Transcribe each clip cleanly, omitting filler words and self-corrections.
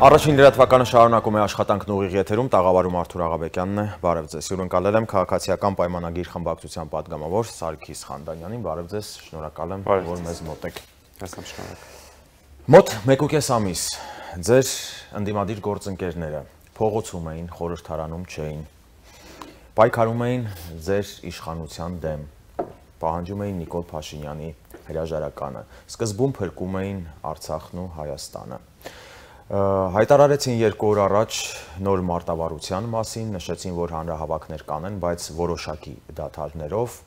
Առաջին լրատվականը շարունակում է աշխատանքն ուղիղ եթերում, տաղավարում Արթուր Աղաբեկյանն է, բարև ձեզ, հյուրընկալել եմ քաղաքացիական պայմանագիր խմբակցության պատգամավոր Սարգիս Խանդանյանին, բարև ձեզ, շնորհակալ եմ, որ մեզ մոտ եք։ Մոտ 1.5 ամիս ձեր ընդդիմադիր գործընկերները փողոցում էին, խորհրդարանում չէին, պայքարում էին ձեր իշխանության դեմ, պահանջում էին Նիկոլ Փաշինյանի հրաժարականը, սկզբում փրկում էին Արցախն ու Հայաստանը։ Հայտարարեցին 2 օր առաջ նոր մարտավարության մասին, նշեցին, որ հանրահավաքներ կանեն, բայց որոշակի դադարներով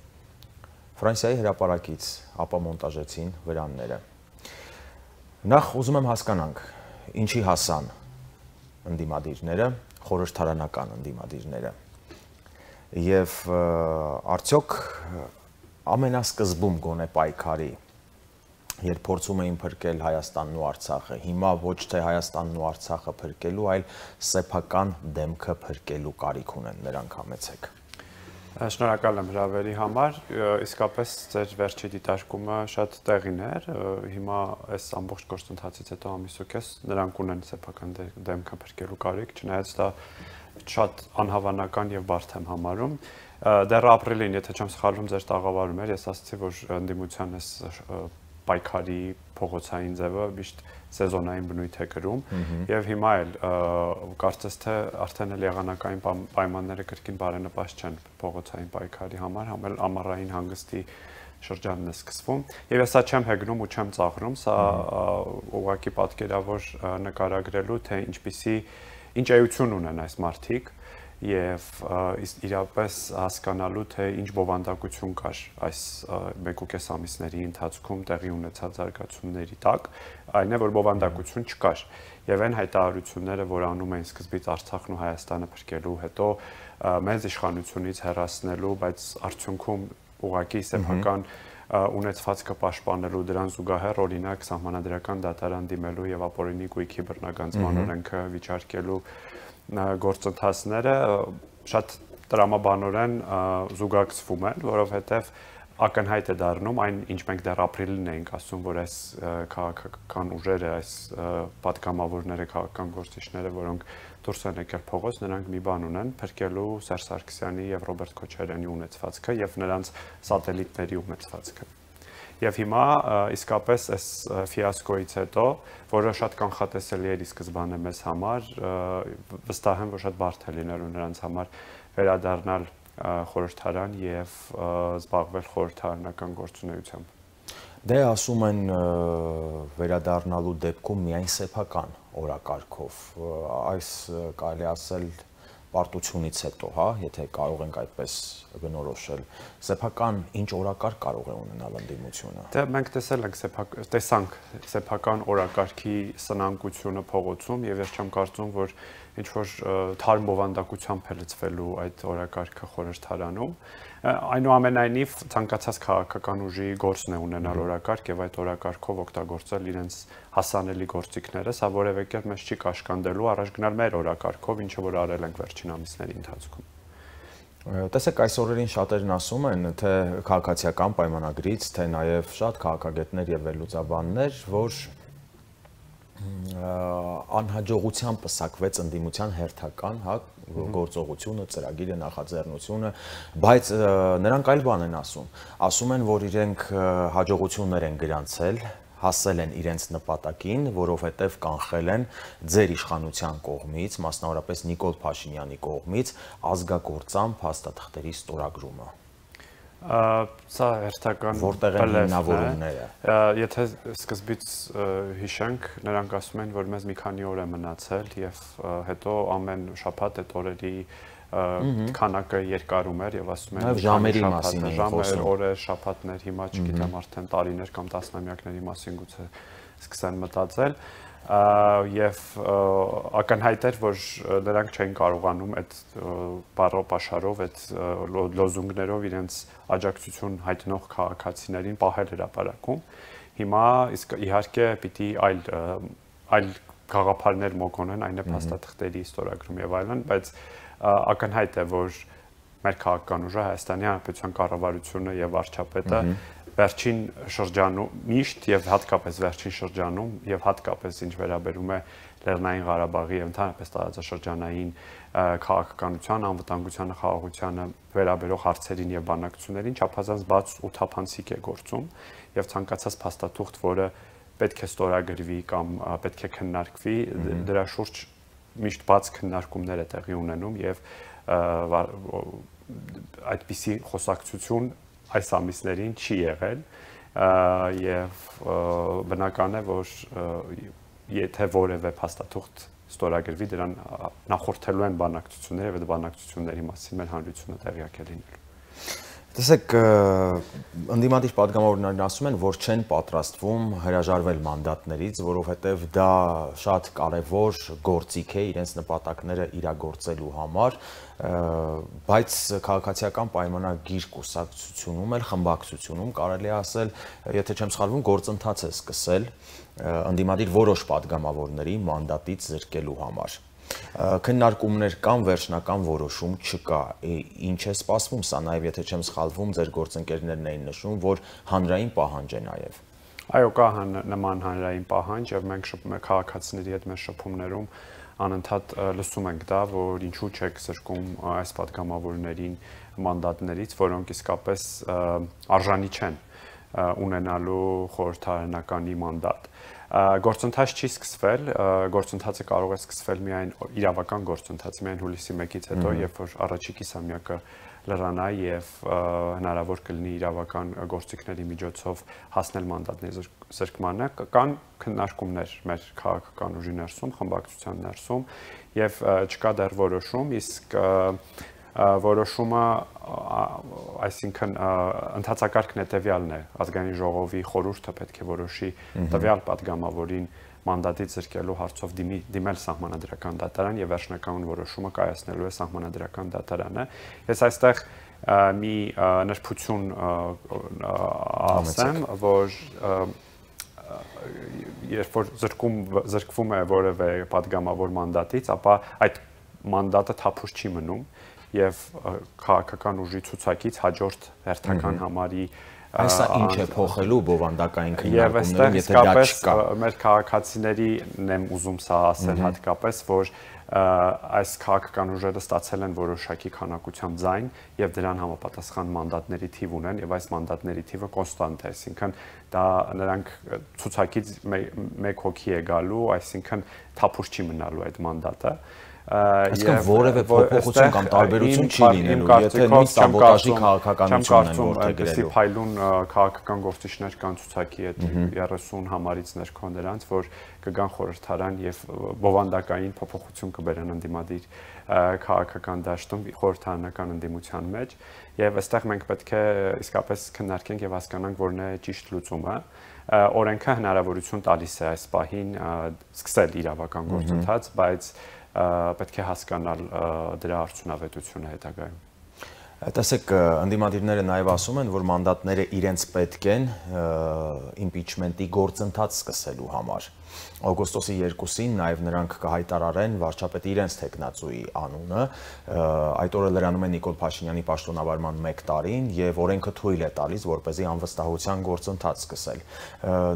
Ֆրանսիայի հրապարակից ապամոնտաժեցին վրանները։ Նախ ուզում եմ հասկանանք, ինչի հասան ընդդիմադիրները, խորհրդարանական ընդդիմադիրները, եւ արդյոք ամենասկզբում գոնե պայքարի, երբ փորձում էին փրկել Հայաստանն ու Արցախը, հիմա ոչ թե Հայաստանն ու Արցախը փրկելու, այլ սեփական դեմքը փրկելու կարիք ունեն, նրանք համեցեք։ Շնորհակալ եմ հրավերի համար, իսկապես ձեր վերջի դիտարկումը շատ տեղին էր, հիմա այս ամբողջ գործընթացից հետո ամիս ու կես նրանք ունեն սեփական դեմքը փրկելու կարիք, չնայած դա շատ անհավանական եւ բարդ եմ համարում։ Դեռ ապրիլին, եթե չեմ սխալվում, ձեր տաղավարում էր, ես ասացի, որ ընդդիմության այս պայքարի փողոցային ձևը միշտ սեզոնային բնույթ է կրում եւ հիմա էլ կարծես թե արդեն էլ եղանակային պայմանները կրկին բարենպաստ չեն փողոցային պայքարի համար, համ էլ ամառային հանգստի շրջանն է սկսվում եւ ես սա չեմ հեգնում ու չեմ ծաղրում, սա ուղղակի պատկերավոր նկարագրելու թե ինչ էություն ունեն այս մարդիկ եւ իրապես հասկանալու թե ինչ բովանդակություն կար այս 1.5 ամիսների ընթացքում տեղի ունեցած զարգացումների տակ, այն է որ բովանդակություն չկար եւ այն հայտարարությունները, որ անում էին սկզբից Արցախն ու Հայաստանը փրկելու, հետո մեծ իշխանությունից հեռացնելու, բայց արդյունքում ուղղակի սեփական ունեցվածքը պաշտպանելու, դրան զուգահեռ օրինակ սահմանադրական դատարան դիմելու եւ ապօրինի գույքի բռնագանձման օրենքը վիճարկելու գործընթացները շատ տրամաբանորեն զուգակցվում են, որովհետև ակնհայտ է դառնում այն, ինչ մենք դեռ ապրիլին էինք ասում, որ այս քաղաքական ուժերը, այս պատգամավորները, քաղաքական գործիչները, որոնք դուրս են եկել փողոց, նրանք մի բան ունեն, փրկելու Սերժ Սարգսյանի եւ Ռոբերտ Քոչարյանի ունեցվածքը եւ նրանց սատելիտների ունեցվածքը։ Եվ հիմա իսկապես այս ֆիասկոից հետո, որը շատ կանխատեսելի էր ի սկզբանե մեզ համար, վստահ եմ, որ շատ բարդ է լինելու նրանց համար վերադառնալ խորհրդարան եւ զբաղվել խորհրդարանական գործունեությամբ։ Դե ասում են վերադառնալու դեպքում միայն սեփական օրակարգով, այս կարելի ասել պարտությունից հետո, հա, եթե կարող ենք այդպես բնորոշել, սեփական ինչ օրակարգ կարող է ունենալ ընդդիմությունը։ Դե մենք տեսանք սեփական օրակարգի սնանկությունը փողոցում եւ ես չեմ կարծում, որ ինչ որ թարմ բովանդակությամբ է լցվելու այդ օրակարգը խորհրդարանում։ Այնուամենայնիվ ցանկացած քաղաքական ուժի գործն է ունենալ օրակարգ եւ այդ օրակարգով օգտագործել իրենց հասանելի գործիքները, սա որևէ կերպ մեզ չի կաշկանդելու առաջ գնալ մեր օրակարգով, ինչը որ արել ենք վերջին ամիսների ընթացքում։ Տեսեք, այս օրերին շատերն ասում են, թե քաղաքացիական պայմանագրից, թե նաեւ շատ քաղաքագետներ եւ վերլուծաբաններ, որ անհաջողությամբ պսակվեց ընդդիմության հերթական, հա, գործողությունը, ծրագիրը, նախաձեռնությունը, բայց նրանք այլ բան են ասում են, որ իրենք հաջողություններ են գրանցել, հասել են իրենց նպատակին, որովհետև կանխել են ձեր իշխանության կողմից, մասնավորապես Նիկոլ Փաշինյանի կողմից ազգագործան փաստաթղթերի ստորագրումը։ Սա հերթական որտեղ են հիմնավորումները։ Եթե սկզբից հիշենք, նրանք ասում են, որ մեզ մի քանի օր է մնացել եւ հետո ամեն շաբաթ այդ օրերի քանակը երկարում էր եւ ասում են ժամերի մասին ժամեր, օրեր, շաբաթներ, հիմա չգիտեմ արդեն տարիներ կամ տասնամյակների մասին գուցե սկսեն մտածել եւ ակնհայտ էր, որ նրանք չեն կարողանում այդ բառապաշարով, այդ լոզունգներով իրենց աջակցություն հայտնող քաղաքացիներին պահել հրապարակում։ Հիմա իհարկե պիտի այլ գաղափարներ մոկոնեն, այն է փաստաթղթերի ստորագրում եւ այլն, բայց ակնհայտ է, որ մեր քաղաքական ուժը Հայաստանի Հանրապետության կառավարությունը եւ վարչապետը վերջին շրջանում միշտ եւ հատկապես վերջին շրջանում եւ հատկապես ինչ վերաբերում է Լեռնային Ղարաբաղի եւ ընդհանրապես տարածաշրջանային քաղաքականության, անվտանգությանը, խաղաղությանը վերաբերող հարցերին եւ բանակցություններին չափազանց բաց ու թափանցիկ է գործում եւ ցանկացած փաստաթուղթ, որը պետք է ստորագրվի կամ պետք է քննարկվի, դրա շուրջ միշտ բաց քննարկումներ է տեղի ունենում եւ այդպիսի խոսակցություն այս ամիսներին չի եղել եւ բնական է, որ եթե որևէ փաստաթուղթ ստորագրվի, դրան նախորդելու են բանակցությունները եւ այդ բանակցությունների մասին մեր հանրությունը տեղյակ է լինելու։ Տեսեք, ընդդիմադիր պատգամավորներն ասում են, որ չեն պատրաստվում հրաժարվել մանդատներից, որովհետև դա շատ կարևոր գործիք է իրենց նպատակները իրագործելու համար, բայց քաղաքացիական պայմանագիր կուսակցությունում էլ խմբակցությունում կարելի է ասել, եթե չեմ սխալվում, գործընթաց է սկսել ընդդիմադիր որոշ պատգամավորների մանդատից զրկելու համար։ Քննարկումներ կան, վերջնական որոշում չկա, ինչ է սպասվում, սա նաև եթե չեմ սխալվում, ձեր գործընկերներն էին նշում, որ հանրային պահանջ է նաև։ Այո, կա նման հանրային պահանջ եւ մենք քաղաքացիների հետ մեր շփումներում անընդհատ լսում ենք դա, որ ինչու չեք զրկում այս պատգամավորներին մանդատներից, որոնք իսկապես արժանի չեն ունենալու խորհրդարանականի մանդատ։ Գործընթաց չի սկսվել, գործընթացը կարող է սկսվել միայն իրավական գործընթաց, միայն հուլիսի 1-ից հետո, երբ որ առաջի կիսամյակը լրանա եւ հնարավոր կլինի իրավական գործիքների միջոցով հասնել մանդատների զրկմանը, կան քննարկումներ մեր քաղաքական ուժի ներսում, խմբակցության ներսում եւ չկա դեռ որոշում, իսկ որոշումը, այսինքն ընդհանցակարգն հետեւյալն է, ազգային ժողովի խորհուրդը պետք է որոշի տվյալ պատգամավորին մանդատից զրկելու հարցով դիմել սահմանադրական դատարան եւ վերջնական որոշումը կայացնելու է սահմանադրական դատարանը։ Ես այստեղ մի նրբություն ասեմ, որ երբ որ զրկվում է որևէ պատգամավոր մանդատից, ապա այդ մանդատը թափուր չի մնում եւ քաղաքական ուժի ցուցակից հաջորդ հերթական համարի Այսա ինչ է փոխելու բովանդակային քննարկումներում, եթե դա չկա։ Մեր քաղաքացիներին եմ ուզում սա ասել հատկապես, որ այս քաղաքական ուժերը ստացել են որոշակի քանակությամբ ձայն եւ դրան համապատասխան մանդատների թիվ ունեն եւ այս մանդատների թիվը կոնստանտ է, այսինքն դա նրանք ցուցակից մեկ հոգի է գալու, այսինքն թափուր չի մնալու այդ մանդատը։ Այսինքն որևէ փոփոխություն կամ տարբերություն չի լինելու, եթե նույն սաբոտաժի քաղաքականությունն են որտեղ գրելու։ Փայլուն քաղաքական գործիչներ կան ցուցակի այդ 30 համարից ներքո նրանց, որ կգան խորհրդարան եւ բովանդակային փոփոխություն կբերեն ընդդիմադիր քաղաքական դաշտում խորհրդարանական ընդդիմության մեջ եւ այստեղ մենք պետք է իսկապես քննարկենք եւ հասկանանք որն է ճիշտ լուծումը։ Օրենքը հնարավորություն տալիս է այս պահին սկսել իրավական գործընթաց, բայց պետք է հասկանալ դրա արդյունավետությունը հետագայում։ Տեսեք, ընդդիմադիրները նաև ասում են, որ մանդատները իրենց պետք են իմպիչմենտի գործընթաց սկսելու համար։ Օգոստոսի 2-ին նաև նրանք կհայտարարեն վարչապետի իրենց թեկնածուի անունը, այդ օրը լրանում է Նիկոլ Փաշինյանի պաշտոնավարման 1 տարին եւ օրենքը թույլ է տալիս, որպեսզի անվստահության գործընթաց սկսել։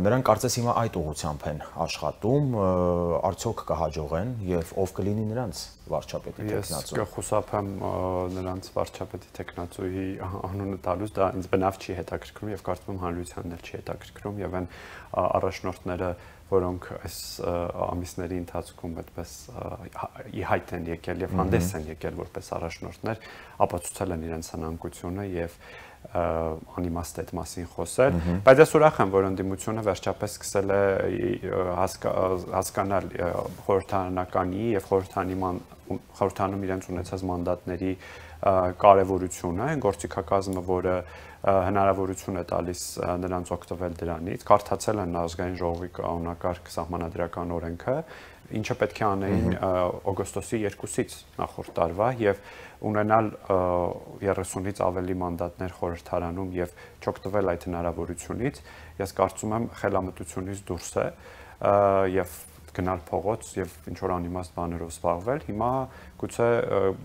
Նրանք կարծես հիմա այդ ուղղությամբ են աշխատում, արդյոք կհաջողեն եւ ով կլինի նրանց վարչապետի թեկնածու։ Ես կխուսափեմ նրանց վարչապետի թեկնածուի անունը տալուց, դա ինձ բնավ չի հետաքրքրում եւ կարծում եմ հանրությանն էլ չի հետաքրքրում եւ այն առաջնորդները, որոնք այս ամիսների ընթացքում այդպես ի հայտ են եկել եւ հանդես են եկել որպես առաջնորդներ, ապացուցել են իրենց հնանկությունը եւ անիմաստ այդ մասին խոսել, բայց ես ուրախ եմ, որ ընդդիմությունը վերջապես սկսել է հասկանալ խորհրդարանականի եւ խորհրդանում իրենց ունեցած մանդատների կարևորությունը, գործիքակազմը, որը հնարավորություն է տալիս նրանց օգտվել դրանից, կարդացել են ազգային ժողովի կանոնակարգ սահմանադրական օրենքը, ինչը պետք է անեին օգոստոսի 2-ից նախորդ տարվա եւ ունենալ 30-ից ավելի մանդատներ խորհրդարանում եւ չօգտվել այդ հնարավորությունից, ես կարծում եմ խելամտությունից դուրս է եւ գնալ փողոց եւ ինչ որ անիմաստ բաներով զբաղվել, հիմա գուցե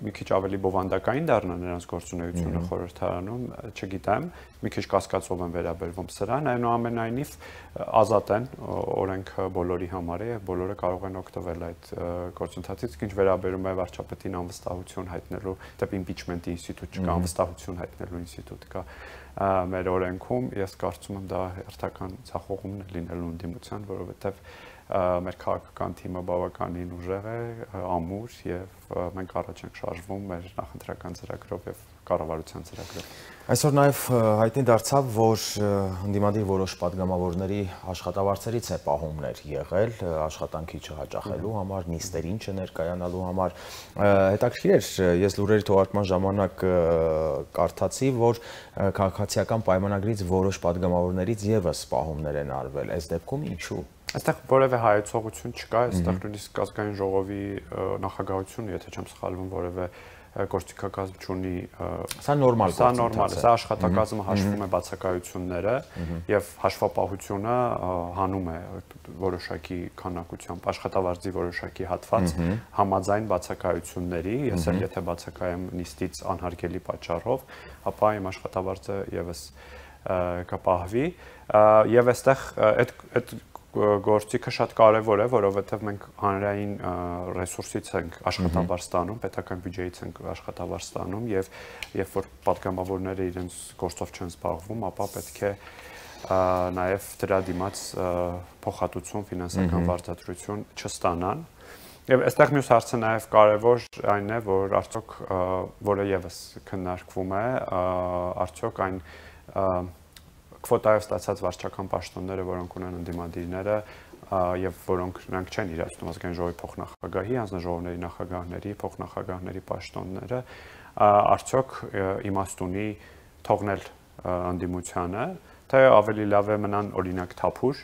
մի քիչ ավելի բովանդակային դառնա նրանց գործունեությունը խորհրդարանում, չգիտեմ, մի քիչ կասկածով եմ վերաբերվում սրան, այնուամենայնիվ ազատ են, օրենքը բոլորի համար է եւ բոլորը կարող են օգտվել այդ գործընթացից, ինչ վերաբերում է վարչապետին անվստահություն հայտնելու, դեպի impeachment-ի ինստիտուտ չկա, անվստահություն հայտնելու ինստիտուտ կա մեր օրենքում, ես կարծում եմ դա հերթական ցախողումն է լինելու ընդդիմության, որովհետև մեր քաղաքական թիմը բավականին ուժեղ է, ամուր եւ մենք առաջ ենք շարժվում մեր նախընտրական ծրագրով եւ կառավարության ծրագրով։ Այսօր նաեւ հայտնի դարձավ, որ ընդդիմադիր որոշ падգամավորների աշխատավարձերից է պահումներ եղել, աշխատանքի չհաճախելու համար, նիստերին չներկայանալու համար։ Հետաքրքիր էր, ես լուրերի թողարկման ժամանակ կարդացի, որ քաղաքացիական պայմանագրից որոշ падգամավորներից եւս պահումներ են արվել։ Այս դեպքում ինչու։ Այստեղ որևէ հայեցողություն չկա, այստեղ նույնիսկ ազգային ժողովի նախագահությունը, եթե չեմ սխալվում, որևէ գործիքակազմ չունի։ Սա նորմալ է, սա աշխատակազմը հաշվում է բացակայությունները եւ հաշվապահությունը հանում է որոշակի քանակությամբ աշխատավարձի որոշակի հատված համաձայն բացակայությունների, ես էլ եթե բացակայեմ նիստից անհարգելի պատճառով, ապա իմ աշխատավարձը եւս կպահվի եւ այստեղ այդ գործիքը շատ կարևոր է, որովհետև մենք հանրային ռեսուրսից ենք աշխատավարձ ստանում, պետական բյուջեից ենք աշխատավարձ ստանում եւ երբ որ պատգամավորները իրենց գործով չեն զբաղվում, ապա պետք է նաեւ դրա դիմաց փոխհատուցում, ֆինանսական վարձատրություն չստանան։ Եվ այստեղ մյուս հարցը նաեւ կարևոր այն է, որ արդյոք որը եւս քննարկվում է, արդյոք այն քվոտայով ստացած վարչական պաշտոնները, որոնք ունեն ընդդիմադիրները եւ որոնք նրանք չեն իրացնում ազգային ժողովի փոխնախագահի, հանձնաժողովների նախագահների, փոխնախագահների պաշտոնները, արդյոք իմաստ ունի թողնել ընդդիմությանը, թե ավելի լավ է մնան օրինակ թափուր,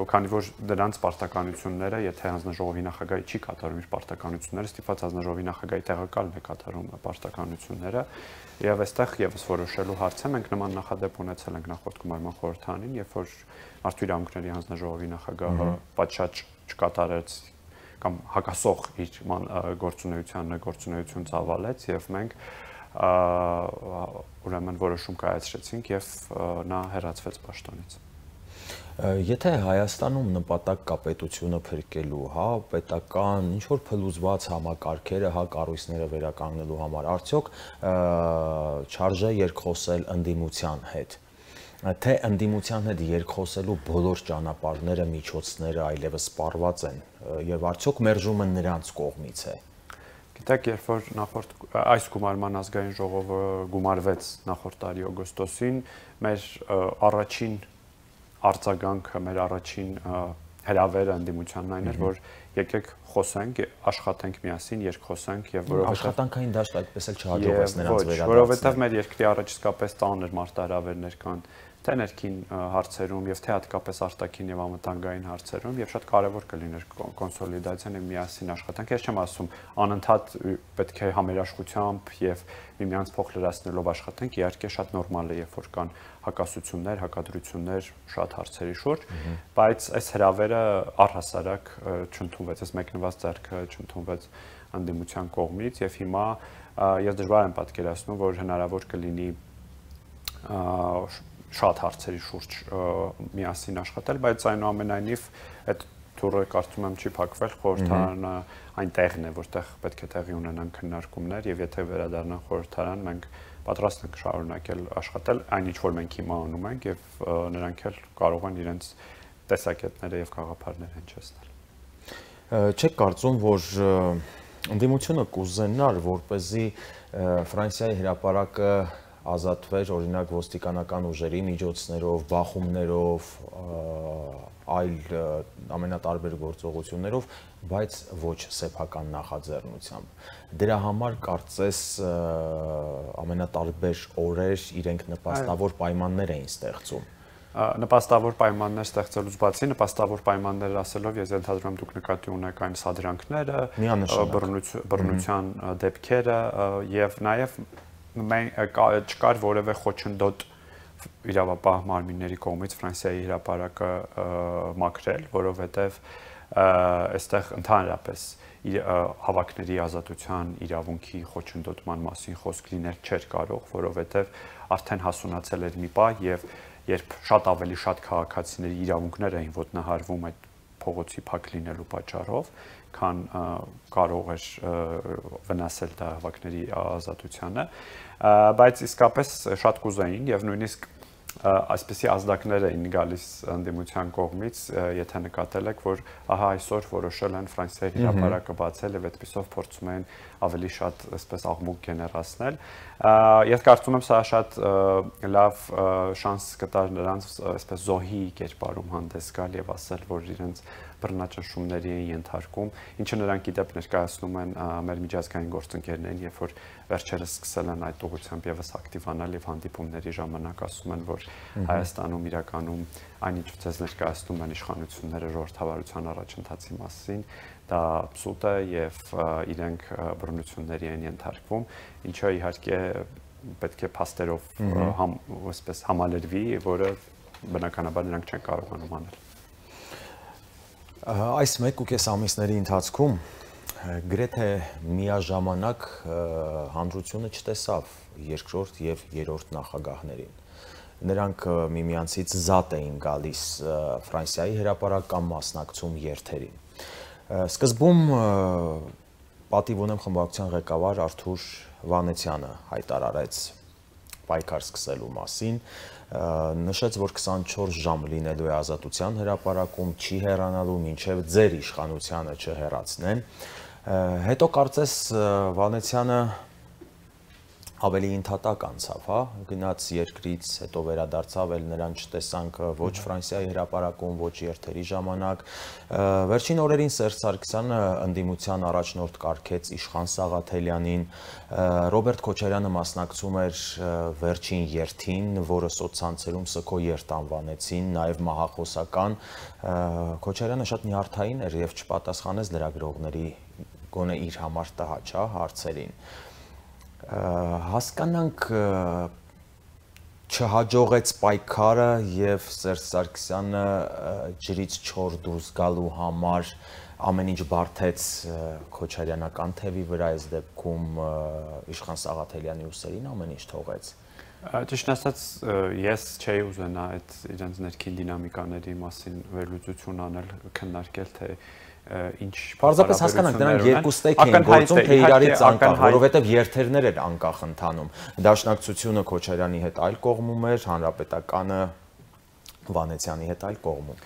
քանի որ դրանց պարտականությունները, եթե հանձնաժողովի նախագահի չի կատարում իր պարտականությունները, ստիպված հանձնաժողովի նախագահի տեղակալն է կատարում պարտականությունները, եւ այստեղ եւս որոշելու հարց է, մենք նման նախադեպ ունեցել ենք նախորդ գումարման խորհրդարանին, երբ որ Մարդու իրավունքների հանձնաժողովի նախագահը պատշաճ չկատարեց կամ հակասող իր գործունեություն ծավալեց եւ մենք ուրեմն որոշում կայացրեցինք եւ նա հեռացվեց պաշտոնից։ Եթե Հայաստանում նպատակ կա պետությունը փրկելու, հա, պետական ինչ որ փլուզված համակարգերը, հա, կառույցները վերականգնելու համար, արդյոք չարժե երկխոսել ընդդիմության հետ, թե ընդդիմության հետ երկխոսելու բոլոր ճանապարհները, միջոցները այլևս սպառված են, եւ արդյոք մերժումը նրանց կողմից է։ Գիտեք, երբ որ նախորդ այս գումարման ազգային ժողովը գումարվեց նախորդ տարի օգոստոսին, մեր առաջին արձագանքը, մեր առաջին հրավերը ընդդիմությանն այն էր, որ եկեք խոսենք, աշխատենք միասին, երկխոսենք եւ որովհետեւ աշխատանքային դաշտ այդպես էլ չհաջողվեց նրանց վերադարձնել։ Որովհետեւ մեր երկրի առաջ իսկապես ծանր մարտահրավերներ կան, թե ներքին հարցերում եւ թե հատկապես արտաքին եւ անվտանգային հարցերում եւ շատ կարեւոր կլիներ կոնսոլիդացիան եւ միասին աշխատանք։ Ես չեմ ասում անընդհատ պետք է համերաշխությամբ եւ միմյանց փոխ լրացնելով աշխատենք, իհարկե շատ նորմալ է, երբ որ կան հակասություններ, հակադրություններ շատ հարցերի շուրջ, բայց այս հրավերը առհասարակ չընդունվեց, այս մեկնված ձեռքը չընդունվեց ընդդիմության կողմից եւ հիմա ես դժվար եմ պատկերացնում, որ հնարավոր կլինի շատ հարցերի շուրջ միասին աշխատել, բայց այնուամենայնիվ այդ թուրը կարծում եմ չի փակվել, խորհրդարանը այն տեղն է, որտեղ պետք է տեղի ունենան քննարկումներ եւ եթե վերադառնան խորհրդարան, մենք պատրաստ ենք շարունակել աշխատել, այն ինչ որ մենք հիմա անում ենք եւ նրանք էլ կարող են իրենց տեսակետները եւ գաղափարները հնչեցնել։ Չեք կարծում, որ ընդդիմությունը կուզենար, որպեսզի Ֆրանսիայի հրապարակը ազատվեր օրինակ ոստիկանական ուժերի միջոցներով, բախումներով, այլ ամենատարբեր գործողություններով, բայց ոչ սեփական նախաձեռնությամբ։ Դրա համար կարծես ամենատարբեր օրեր իրենք նպաստավոր պայմաններ էին ստեղծում։ Նպաստավոր պայմաններ ստեղծելուց բացի, նպաստավոր պայմաններ ասելով ես ենթադրում եմ դուք նկատի ունեք այն սադրանքները, բռնության դեպքերը եւ նաեւ չկար որևէ խոչընդոտ իրավապահ մարմինների կողմից Ֆրանսիայի հրապարակը մաքրել, որովհետև այստեղ ընդհանրապես հավաքների ազատության իրավունքի խոչընդոտման մասին խոսք լինել չէր կարող, որովհետև արդեն հասունացել էր մի պահ եւ երբ շատ ավելի շատ քաղաքացիների իրավունքներ էին ոտնահարվում այդ փողոցի փակ լինելու պատճառով, քան կարող էր վնասել դա հավաքների ազատությանը, բայց իսկապես շատ կուզեին եւ նույնիսկ այսպիսի ազդակներ էին գալիս ընդդիմության կողմից, եթե նկատել եք, որ ահա այսօր որոշել են Ֆրանսիայի հրապարակը բացել եւ այդպիսով փորձում են ավելի շատ այսպես աղմուկ գեներացնել։ Ես կարծում եմ սա շատ լավ շանս կտար նրանց այսպես զոհի կերպարում հանդես գալ եւ ասել, որ իրենց բռնաճնշումների են ենթարկում, ինչը նրանք իդեպ ներկայացնում են մեր միջազգային գործընկերներին, երբ որ վերջերս սկսել են այդ ուղղությամբ եւս ակտիվանալ եւ հանդիպումների ժամանակ ասում են, որ Հայաստանում իրականում այնինչ ցած ներկայացնում են իշխանությունները ժողովրդավարության առաջընթացի մասին, դա абսուրդ է եւ իրենք բռնությունների են ենթարկվում, ինչը իհարկե պետք է փաստերով այսպես համալրվի, որը բնականաբար նրանք չեն կարողանում անել։ Այս 1.5 ամիսների ընթացքում գրեթե միաժամանակ հանդրությունը չտեսավ երկրորդ եւ երրորդ նախագահներին։ Նրանք միմյանցից զատ էին գալիս Ֆրանսիայի հրապարակ կամ մասնակցում երթերին։ Սկզբում պատիվ ունեմ խմբակցության ղեկավար Արթուր Վանեցյանը հայտարարեց պայքար սկսելու մասին, նշեց, որ 24 ժամ լինելու է ազատության հրապարակում, չի հեռանալու մինչև ձեր իշխանությանը չհեռացնեն։ Հետո կարծես Վանեցյանը ավելի ընդհատակ անցավ, հա, գնաց երկրից, հետո վերադարձավ, էլ նրան չտեսանք ոչ Ֆրանսիայի հրապարակում, ոչ երթերի ժամանակ։ Վերջին օրերին Սերժ Սարգսյանը ընդդիմության առաջնորդ կարգեց Իշխան Սաղաթելյանին, Ռոբերտ Քոչարյանը մասնակցում էր վերջին երթին, որը սոցցանցերում սգո երթ անվանեցին, նաև մահախոսական։ Քոչարյանը շատ նյարդային էր եւ չպատասխանեց լրագրողների գոնե իր համար տհաճ հարցերին։ Հասկանանք չհաջողեց պայքարը եւ Սերժ Սարգսյանը ջրից չոր դուրս գալու համար ամեն ինչ բարթեց Քոչարյանական թևի վրա, այս դեպքում Իշխան Սաղաթելյանի ուսերին ամեն ինչ թողեց։ Ճիշտ ասած, ես չէի ուզենա այդ իրենց ներքին դինամիկաների մասին վերլուծություն անել, քննարկել, թե ինչ Պարզապես հասկանանք, նրանք երկու ստեյք էին գործում, թե իրարից անկախ, որովհետև երթերներ էր անկախ ընթանում։ Դաշնակցությունը Քոչարյանի հետ այլ կողմում էր, Հանրապետականը Վանեցյանի հետ այլ կողմում։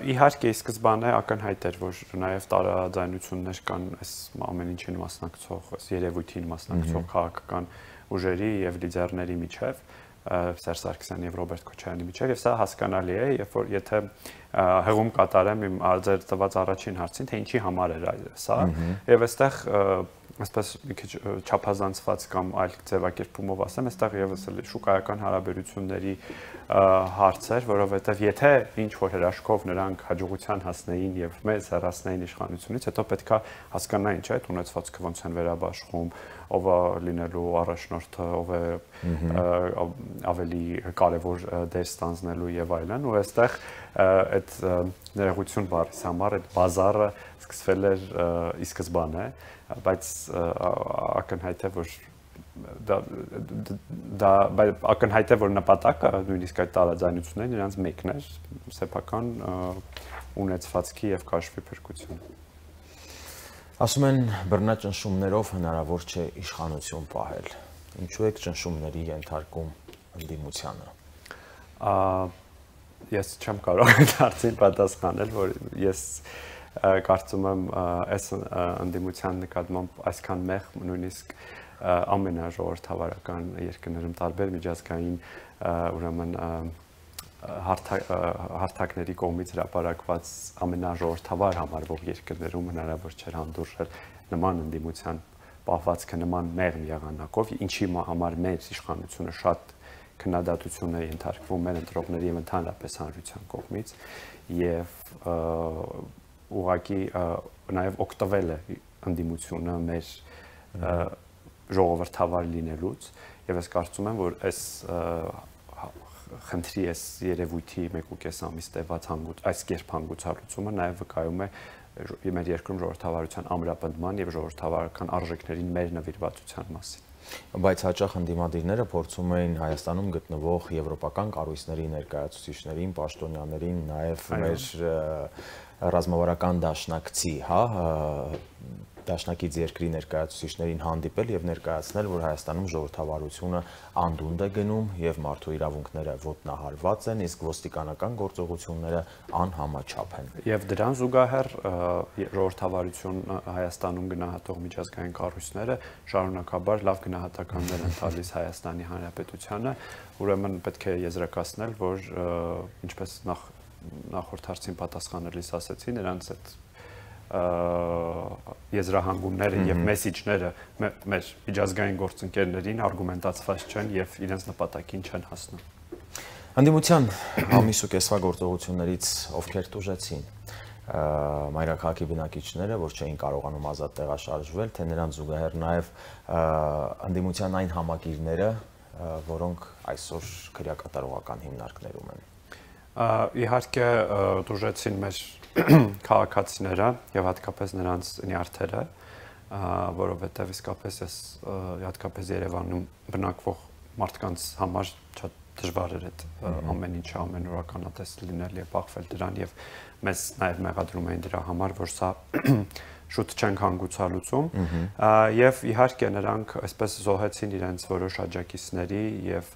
Իհարկե, սկզբանե ակնհայտ էր, որ նաև տարաձայնություններ կան այս ամեն ինչին մասնակցող, այս երևույթին մասնակցող քաղաքական ուժերի եւ լիդերների միջև, Սերժ Սարգսյանի եւ Ռոբերտ Քոչարյանի միջև, եւ սա հասկանալի է, երբ որ եթե հղում կատարեմ իմ ձեր տված առաջին հարցին, թե ինչի համար էր սա, եւ այստեղ այսպես մի քիչ չափազանցված կամ այլ ձևակերպումով ասեմ, այստեղ եւս շուկայական հարաբերությունների հարցեր, որովհետեւ եթե ինչ որ հրաշքով նրանք հաջողության հասնեին եւ մեզ հեռացնեին իշխանությունից, հետո պետքա հասկանային, չէ՞, այդ ունեցվածքը ոնց են վերաբաշխում, ով է լինելու առաջնորդը, ով է ավելի կարևոր դեր ստանձնելու եւ այլն, ու այստեղ այդ ներողություն բառից համար այդ բազարը սկսվել էր ի սկզբանե, բայց ակնհայտ է, որ դա ակնհայտ է, որ նպատակը նույնիսկ այդ տարաձայնություններն նրանց մեկն էր, սեփական ունեցվածքի եւ կաշվի փրկությունը։ Ասում են բռնաճնշումներով հնարավոր չէ իշխանություն պահել։ Ինչու է ճնշումների ենթարկում ընդդիմությանը։ Ես չեմ կարող այդ հարցին պատասխանել, որ ես կարծում եմ այս ընդդիմության նկատմամբ այսքան մեղ նույնիսկ ամենաժողովրդավարական երկրներում տարբեր միջազգային ուրեմն հարթակների կողմից հրապարակված ամենաժողովրդավար համարվող երկրներում հնարավոր չէր հանդուրժել նման ընդդիմության պահվածքը նման մեղմ եղանակով, ինչի համար մեր իշխանությունը շատ քննադատություն է ենթարկվում մեր ընտրողների եւ ընդհանրապես հանրության կողմից եւ ուղղակի նաեւ օգտվել է ընդդիմությունը մեր ժողովրդավար լինելուց եւ ես կարծում եմ, որ այս խնդրի այս երևույթի 1.5 ամիս տևած այս կերպ հանգուցալուծումը նաև վկայում է մեր երկրում ժողովրդավարության ամրապնդման եւ ժողովրդավարական արժեքներին մեր նվիրվածության մասին։ Բայց հաճախ ընդդիմադիրները փորձում էին Հայաստանում գտնվող եվրոպական կառույցների ներկայացուցիչներին, պաշտոնյաներին, նաև մեր ռազմավարական դաշնակցի, դաշնակից երկրի ներկայացուցիչներին հանդիպել եւ ներկայացնել, որ Հայաստանում ժողովրդավարությունը անդունդ է գնում եւ մարդու իրավունքները ոտնահարված են, իսկ ոստիկանական գործողությունները անհամաչափ են։ Եվ դրան զուգահեռ ժողովրդավարություն Հայաստանում գնահատող միջազգային կառույցները շարունակաբար լավ գնահատականներ են տալիս Հայաստանի Հանրապետությանը, ուրեմն պետք է եզրակացնել, որ ինչպես նախորդ հարցին պատասխանելիս ասեցի, նրանց այդ եզրահանգումները եւ մեսիջները մեր միջազգային գործընկերներին արգումենտացված չեն եւ իրենց նպատակին չեն հասնում։ Ընդդիմության ամիս ու կեսվա գործողություններից ովքեր տուժեցին մայրաքաղաքի բնակիչները, որ չէին կարողանում ազատ տեղաշարժվել, թե նրանց զուգահեռ նաև ընդդիմության այն համակիրները, որոնք այսօր քրեակատարողական հիմնարկներում են։ Իհարկե տուժեցին մեր քաղաքացիները եւ հատկապես նրանց նյարդերը, որովհետեւ իսկապես հատկապես Երևանում բնակվող մարդկանց համար շատ դժվար էր այդ ամեն ինչը ամենօրականատես լինել եւ բախվել դրան եւ մեզ նաեւ մեղադրում էին դրա համար, որ սա շուտ չենք հանգուցալուծում եւ իհարկե նրանք այսպես զոհեցին իրենց որոշ աջակիցների եւ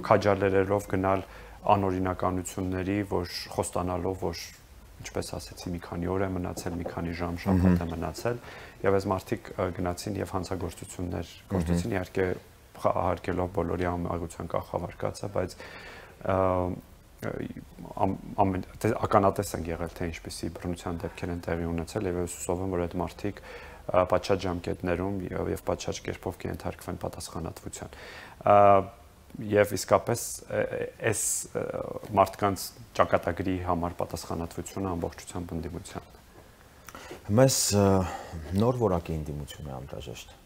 քաջալերելով գնալ անօրինականությունների, որ խոստանալով, որ ինչպես ասեցի, մի քանի օր է մնացել, մի քանի ժամ շաբաթ է մնացել, եւ այս մարդիկ գնացին եւ հանցագործություններ գործեցին, իհարկե հարգելով բոլորի ամենագության կախավարկածը, բայց ականատես են եղել, թե ինչպիսի բռնության դեպքեր են տեղի ունեցել, եւ ես հուսով եմ, որ այդ մարդիկ պատշաճ ժամկետներում եւ պատշաճ կերպով կենթարկվեն պատասխանատվության։ Եվ իսկապես այս մարդկանց ճակատագրի համար պատասխանատվությունը ամբողջությամբ ընդդիմության։ Մեզ նոր որակի ընդդիմություն է անհրաժեշտ։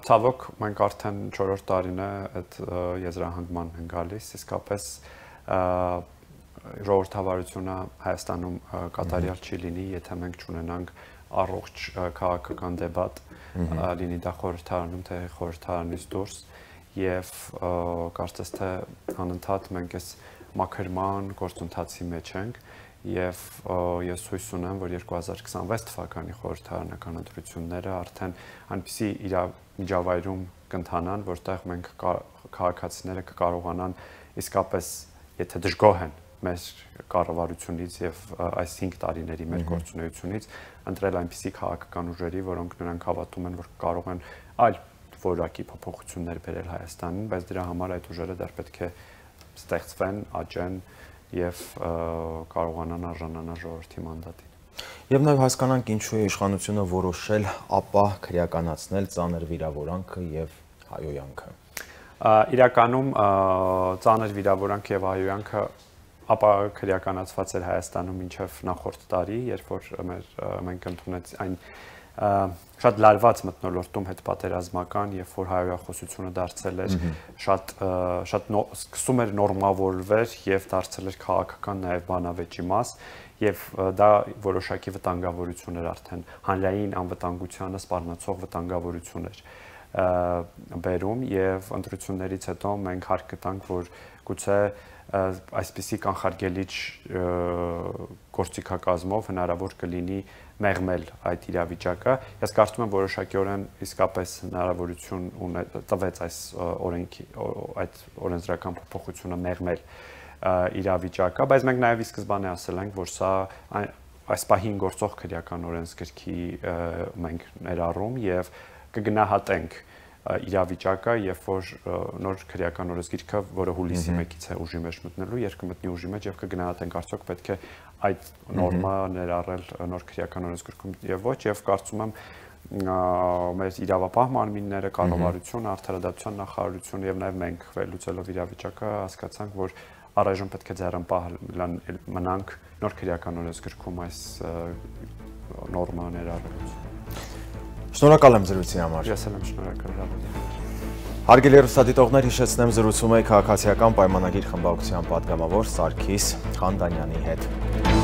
Ցավոք, մենք արդեն 4-րդ տարին է այդ եզրահանգման են գալիս, իսկապես ժողովրդավարությունը Հայաստանում կատարյալ չի լինի, եթե մենք չունենանք առողջ քաղաքական դեբատ, լինի դա խորհրդարանում, թե խորհրդարանից դուրս, եւ կարծես թե անընդհատ մենք այս մաքրման գործընթացի մեջ ենք եւ ես հույս ունեմ, որ 2026 թվականի խորհրդարանական ընտրությունները արդեն այնպիսի միջավայրում կընթանան, որտեղ մենք քաղաքացիները կկարողանան իսկապես, եթե դժգոհ են մեր կառավարությունից եւ այս 5 տարիների մեր գործունեությունից, ընտրել այնպիսի քաղաքական ուժերի, որոնք նրանք հավատում են, որ կարող են այլ որակի փոփոխություններ բերել Հայաստանին, բայց դրա համար այդ ուժերը դեռ պետք է ստեղծվեն, աճեն եւ կարողանան արժանանալ ժողովրդի մանդատին։ Եվ նաեւ հասկանանք ինչու է իշխանությունը որոշել ապա քրեականացնել ծանր վիրավորանքը եւ հայոյանքը։ Իրականում ծանր վիրավորանքը եւ հայոյանքը ապա քրեականացված էր Հայաստանում մինչեւ նախորդ տարի, երբ որ մենք ընդունեց այն շատ լարված մթնոլորտում հետպատերազմական, երբ որ հայոյախոսությունը դարձել էր շատ սկսում էր նորմավորվել եւ դարձել էր քաղաքական նաեւ բանավեճի մաս եւ դա որոշակի վտանգավորություն էր արդեն հանրային անվտանգությանը սպառնացող վտանգավորություն էր բերում եւ ընտրություններից հետո մենք հարկ գտանք, որ գուցե այսպիսի կանխարգելիչ գործիքակազմով հնարավոր կլինի մեղմել այդ իրավիճակը։ Ես կարծում եմ որոշակիորեն իսկապես հնարավորություն տվեց այս օրենքի այդ օրենսդրական փոփոխությունը մեղմել իրավիճակը, բայց մենք նաև ի սկզբանե ասել ենք, որ սա այս պահին գործող քրեական օրենսգրքի մենք ներառում եւ կգնահատենք իրավիճակը, երբ որ նոր քրեական օրենսգիրքը, որը հուլիսի 1-ից է ուժի մեջ մտնելու, կմտնի ուժի մեջ եւ կգնահատենք արդյոք պետք է այդ նորմա ներառել նոր քրեական օրենսգրքում եւ ոչ, եւ կարծում եմ մեր իրավապահ մարմինները, կառավարությունը, արդարադատության նախարարությունը եւ նաեւ մենք վերլուծելով իրավիճակը հասկացանք, որ առայժմ պետք է ձեռնպահ մնանք նոր քրեական օրենսգրքում այս նորմա ներառելուց։ Շնորհակալ եմ զրույցի համար։ Ես եմ շնորհակալ։ Հարգելի հեռուստադիտողներ, հիշեցնեմ զրուցում էի քաղաքացիական պայմանագիր խմբակցության պատգամավոր Սարգիս Խանդանյանի հետ։